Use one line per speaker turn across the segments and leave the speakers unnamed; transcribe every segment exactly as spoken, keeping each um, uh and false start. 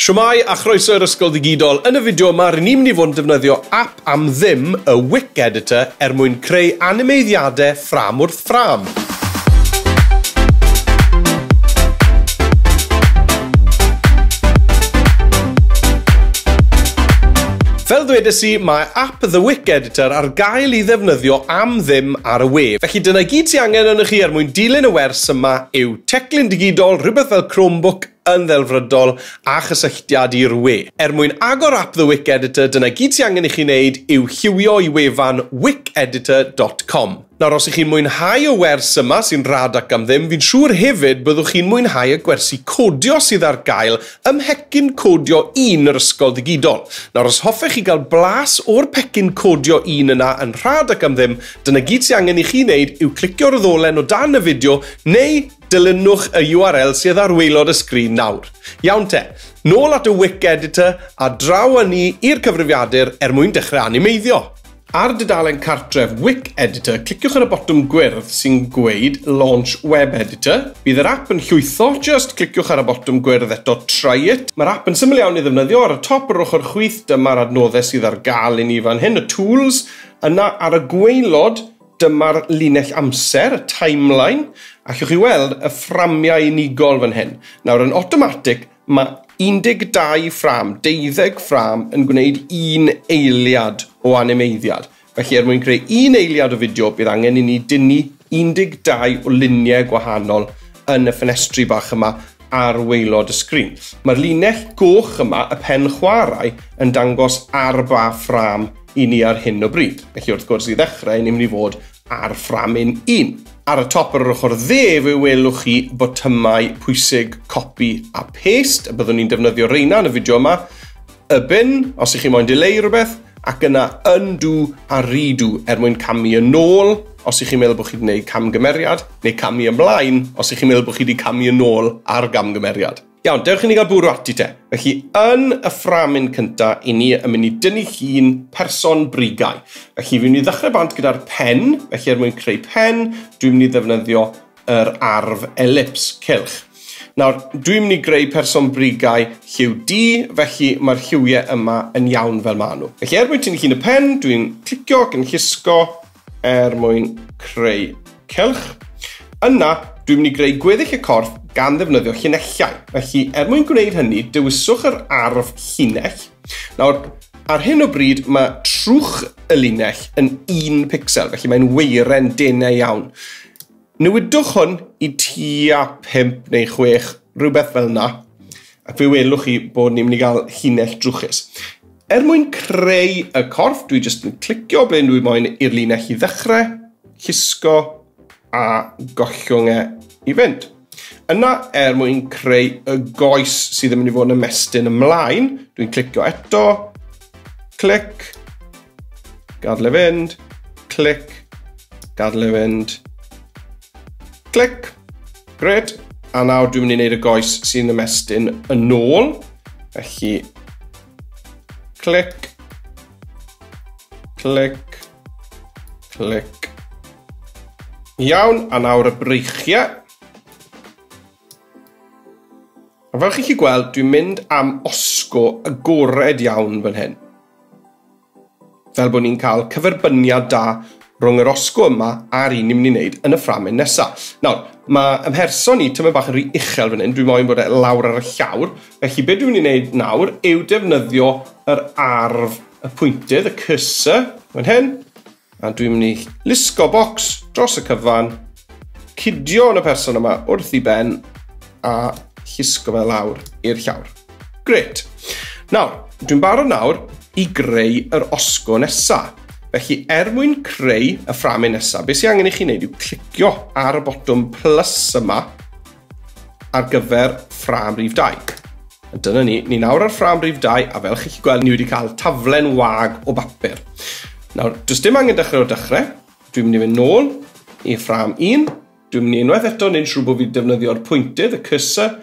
Shwmae a chroeso i'r Ysgol Ddigidol. Yn y fideo yma, rydyn ni'n mynd i fod yn defnyddio app am ddim, y Wik Editor, er mwyn creu animeiddiadau ffrâm wrth ffrâm. Fel ddwedes i, mae app The Wik Editor ar gael i ddefnyddio am ddim ar y we. Felly dyna gyd sy'n angen arnoch chi er mwyn dilyn y wers yma yw teclyn digidol, rhywbeth fel Chromebook yn ddelfrydol a chysylltiad i'r we. Er mwyn agor app The Wik Editor, dyna gyd sy'n angen i chi wneud yw lliwio i wefan wik editor dot com. Nawr, os ych chi'n mwynhau y wers yma sy'n rhad ac am ddim, fi'n siŵr hefyd byddwch chi'n mwynhau y gwersi codio sydd ar gael ym mhecyn codio un yr Ysgol Ddigidol. Nawr, os hoffech chi gael blas o'r pecyn codio un yna yn rhad ac am ddim, dyna gyd sy'n angen i chi wneud yw clicio'r ddolen o dan y fideo neu dilynwch y U R L sydd ar waelod y sgrin nawr. Iawn te, nôl at y Wik Editor a draw â ni i'r cyfrifiadur er mwyn dechrau animeiddio. Ar dudalen cartref Wik Editor, cliciwch ar y botwm gwyrdd sy'n gweud Launch Web Editor. Bydd yr app yn llwytho, just cliciwch ar y botwm gwyrdd eto Try It. Mae'r app yn syml iawn i ddefnyddio. Ar y top yr ochr chwith, dyma'r adnoddau sydd ar gael i ni fan hyn, y tools. Yna ar y gwaelod, dyma'r linell amser, y timeline. Allwch chi weld y fframiau unigol fan hyn. Nawr, yn automatic, mae un deg dau ffrâm, deuddeg ffrâm yn gwneud un eiliad o animeiddiad. Felly, er mwyn creu un eiliad o fideo, bydd angen i ni dynnu un deg dau o luniau gwahanol yn y ffenestri bach yma ar waelod y sgrin. Mae'r linell goch yma, y pen chwarae, yn dangos ar ba ffrâm i ni ar hyn o bryd. Felly, wrth gwrs, i ddechrau, ni'n mynd i fod ar fframyn un. Ar y top ar yr ochr dde, fe welwch chi botymau pwysig copy a paste, a byddwn ni'n defnyddio reina yn y fideo yma. Y bin, os ych chi moyn dileu rhywbeth, ac yna undo a redo er mwyn camu yn ôl, os ych chi'n meddwl bod chi wedi gwneud camgymeriad, neu camu ymlaen, os ych chi'n meddwl bod chi wedi camu yn ôl ar gamgymeriad. Iawn, dewch i ni gael bwrw ati te. Felly, yn y fframyn cynta, i ni yn mynd i dynnu llun person brigau. Felly, fi'n mynd i ddechrau bant gyda'r pen. Felly, er mwyn creu pen, dwi'n mynd i ddefnyddio yr arf elips, cylch. Nawr, dwi'n mynd i greu person brigau lliw du, felly mae'r lliwiau yma yn iawn fel maen nhw. Felly, er mwyn tynnu llun y pen, dwi'n clicio ac yn llusgo er mwyn creu cylch. Yna, dwi'n mynd i greu gweddill y corff gan ddefnyddio llinellau. Felly, er mwyn gwneud hynny, dewiswch yr arf llinell. Nawr, ar hyn o bryd, mae trwch y linell yn un pixel, felly mae'n weiren denau iawn. Newidwch hwn i tua pump neu chwech, rhywbeth fel yna, ac fe welwch chi bod ni'n mynd i gael llinell drwchus. Er mwyn creu y corff, dwi jyst yn clicio ble dwi moyn i'r linell i ddechrau, llusgo a gollwng e i fynd. Yna, er mwyn creu y goes sydd yn mynd i fod yn ymestyn ymlaen, dwi'n clicio eto, clic, gadael e fynd, clic, gadael e fynd, clic. Gret. A nawr dwi'n mynd i wneud y goes sy'n ymestyn yn ôl. Felly, clic, clic, clic. Iawn, a nawr y breichiau. A fel chi'n gallu gweld, dwi'n mynd am osgo agored iawn fan hyn. Fel bod ni'n cael cyferbyniad da rhwng yr osgo yma a'r un ni'n mynd i wneud yn y fframyn nesaf. Nawr, mae ymherson ni tymed bach yn rhy uchel fan hyn, dwi'n moyn bod e lawr ar y llawr. Felly, beth dwi'n mynd i wneud nawr yw defnyddio yr arf y pwyntydd, y cursor, fan hyn. A dwi'n mynd i lusgo bocs dros y cyfan, cydio yn y person yma wrth i ben, a llusgo fe lawr i'r llawr. Gret. Nawr, dwi'n barod nawr i greu yr osgo nesa. Felly, er mwyn creu y fframyn nesa, beth sy'n angen i chi wneud yw clicio ar y botwm plus yma ar gyfer ffrâm rhif dau. A dyna ni, ni nawr ar ffrâm rhif dau, a fel chi'n gweld, ni wedi cael taflen wag o bapur. Nawr, does dim angen dechrau o'r dechrau. Dwi'n mynd i fynd nôl i ffrâm un. Dwi'n mynd i unwaith eto wneud siŵr bod fi'n defnyddio'r pwyntydd, y cursor,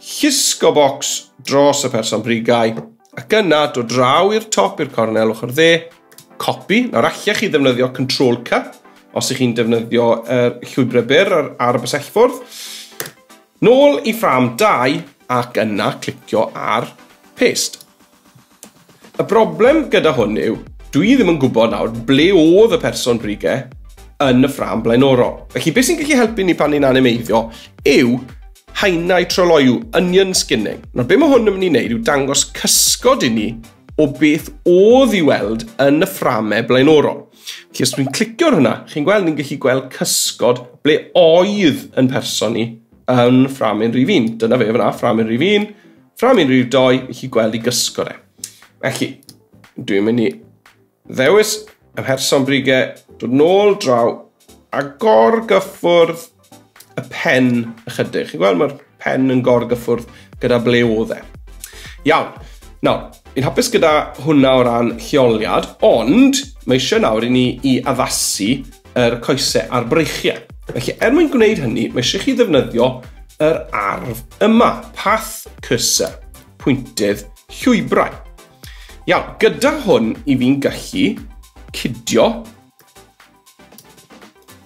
llusgo bocs dros y person brigau, ac yna dod draw i'r top i'r cornel ochr dde, copy. Nawr, allech chi ddefnyddio Control C, os ych chi'n defnyddio yr llwybrau byr ar, ar y bysellfwrdd. Nôl i ffrâm dau, ac yna clicio ar Paste. Y broblem gyda hwn yw, dwi ddim yn gwybod nawr ble oedd y person brigau yn y ffrâm blaenorol. Felly beth sy'n gallu helpu ni pan ni'n animeiddio yw haenau tryloyw, onion skinning. Nawr be mae hwn yn mynd i wneud yw dangos cysgod i ni o beth oedd i weld yn y fframau blaenorol. Felly os dwi'n clicio ar hwnna, chi'n gweld ni'n gallu gweld cysgod ble oedd yn person ni yn ffrâm un rhif un. Dyna fe fyna, ffrâm un rhif un, ffrâm un rhif dau, felly gweld i gysgod e. Felly, dwi'n mynd i ddewis y person brigau, dod nôl draw a gorgyffwrdd y pen ychydig. Chi'n gweld mae'r pen yn gorgyffwrdd gyda ble oedd e. Iawn. Nawr, fi'n hapus gyda hwnna o ran lleoliad, ond mae eisiau nawr i ni i addasu yr coesau a'r breichiau. Felly, er mwyn gwneud hynny, mae eisiau chi ddefnyddio yr arf yma, path cursor, pwyntydd llwybrau. Iawn, gyda hwn i fi'n gallu cydio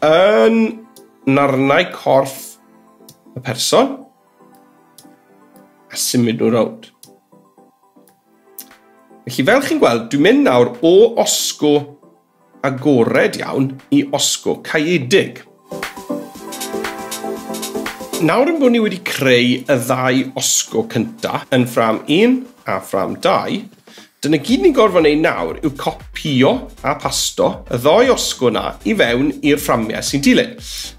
yn narnau corff y person a symud nhw rownd. Felly fel chi'n gweld, dwi'n mynd nawr o osgo agored iawn i osgo caeedig. Nawr yn bod ni wedi creu y ddau osgo cynta yn ffrâm un a ffrâm dau, dyna gyd ni'n gorfod wneud nawr yw copio a pasto y ddau osgo na i fewn i'r fframiau sy'n dilyn.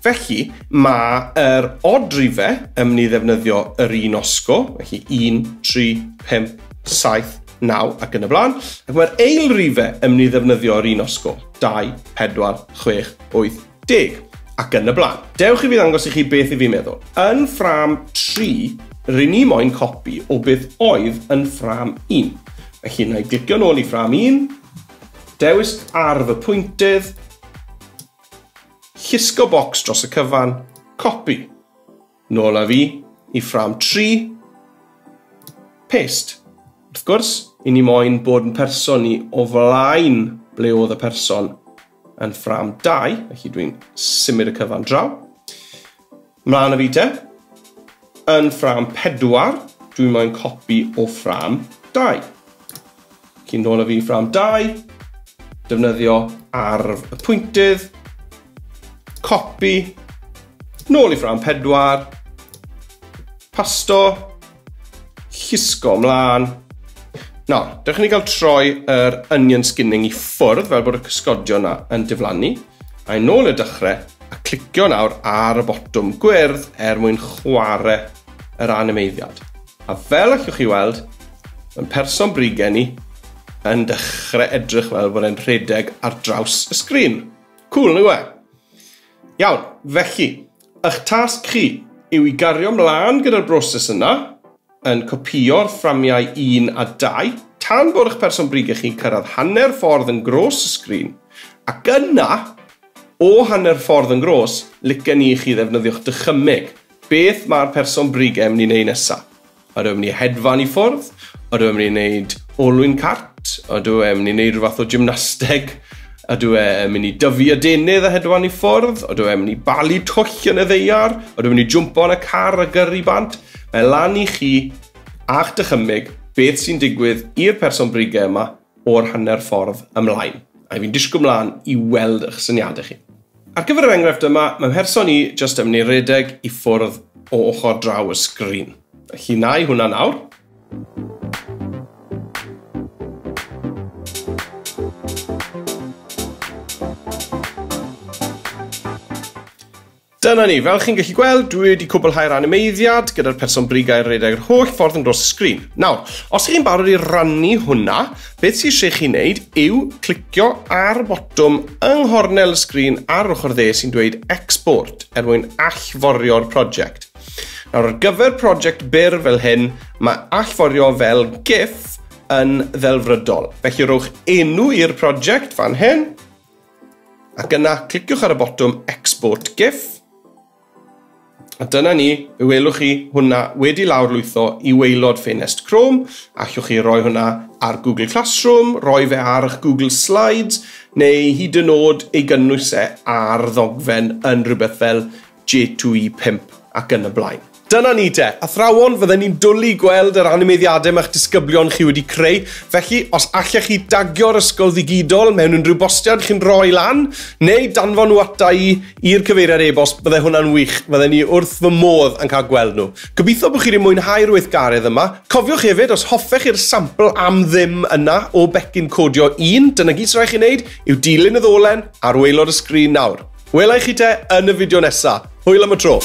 Felly, mae'r odd rifau yn mynd i ddefnyddio yr un osgo, felly un, tri, pump, saith, naw ac yn y blaen. Ac mae'r ail rifau yn mynd i ddefnyddio yr un osgo, dau, pedwar, chwech, wyth, deg ac yn y blaen. Dewch i fi ddangos i chi beth i fi'n meddwl. Yn ffrâm tri, rydyn ni moyn copi o beth oedd yn ffrâm un. Felly, na i glicio nôl i ffrâm un, dewis arf y pwyntydd, llusgo bocs dros y cyfan, copi. Nôl â fi i ffrâm tri, paste. Wrth gwrs, i ni moyn bod yn person ni o flaen ble oedd y person yn ffrâm dau, felly dwi'n symud y cyfan draw. Mlaen â fi te, yn ffrâm pedwar, dwi'n moyn copi o ffrâm dau. Cyn nôl â fi ffrâm dau, defnyddio arf y pwyntydd, copi, nôl i ffrâm pedwar, pasto, llusgo ymlaen. Nawr, dewch i ni gael troi yr onion skinning i ffwrdd fel bod y cysgodion yna yn diflannu. A i nôl i'r dechrau a clicio nawr ar y botwm gwyrdd er mwyn chwarae yr animeiddiad. A fel allwch chi weld, mae'n person brigau ni yn dechrau edrych fel bod e'n rhedeg ar draws y sgrin. Cool, nag yw e? Iawn, felly, eich tasg chi yw i gario ymlaen gyda'r broses yna, yn copio'r fframiau un a dau, tan bod eich person brigau chi'n cyrraedd hanner ffordd yn gros y sgrin, ac yna, o hanner ffordd yn gros, licen i chi ddefnyddio'ch dychymyg. Beth mae'r person brigau yn mynd i wneud nesaf? Ydw e'n mynd i hedfan i ffwrdd? Ydw e'n mynd i wneud olwyn cart? Ydw e'n mynd i wneud rhyw fath o gymnasteg? Ydw e'n mynd i dyfu adenydd a hedfan i ffwrdd? Ydw e'n mynd i balu twll yn y ddaear? Ydw e'n mynd i jwmpo yn y car a gyrru bant? Mae lan i chi a'ch dychymyg beth sy'n digwydd i'r person brigau yma o'r hanner ffordd ymlaen. A fi'n disgwyl ymlaen i weld eich syniadau chi. Ar gyfer yr enghraifft yma, mae mherson i jyst yn mynd i redeg i ffwrdd o ochr draw y sgrin. Felly na i hwnna nawr. Dyna ni, fel chi'n gallu gweld, dwi wedi cwblhau'r animeiddiad gyda'r person brigau redeg yr holl ffordd yn dros y sgrin. Nawr, os chi'n barod i rannu hwnna, beth sydd eisiau chi wneud yw clicio ar botwm yng nghornel y sgrin ar ochr dde sy'n dweud Export er mwyn allforio'r prosiect. Nawr, ar gyfer prosiect byr fel hyn, mae allforio fel GIF yn ddelfrydol. Felly rhowch enw i'r prosiect fan hyn, ac yna cliciwch ar y botwm Export GIF. A dyna ni, fe welwch chi hwnna wedi lawrlwytho i waelod ffenest Chrome. Allwch chi roi hwnna ar Google Classroom, roi fe ar eich Google Slides, neu hyd yn oed ei gynnwys e ar ddogfen yn rhywbeth fel J two E pump ac yn y blaen. Dyna ni te. Athrawon, fydden ni'n dwlu gweld yr animeiddiadau mae'ch disgyblion chi wedi creu. Felly, os allech chi dagio'r ysgol ddigidol mewn unrhyw bostiad chi'n rhoi lan, neu danfon nhw ata i i'r cyfeiriad e-bost, bydde hwnna'n wych. Fydden ni wrth fy modd yn cael gweld nhw. Gobeithio bod chi wedi mwynhau'r weithgaredd yma. Cofiwch hefyd, os hoffech chi'r sampl am ddim yna o becyn codio un, dyna gyd sy'n rhaid chi wneud yw dilyn y ddolen ar waelod y sgrin nawr. Wela i chi te yn y fideo nesaf. Hwyl am y tro.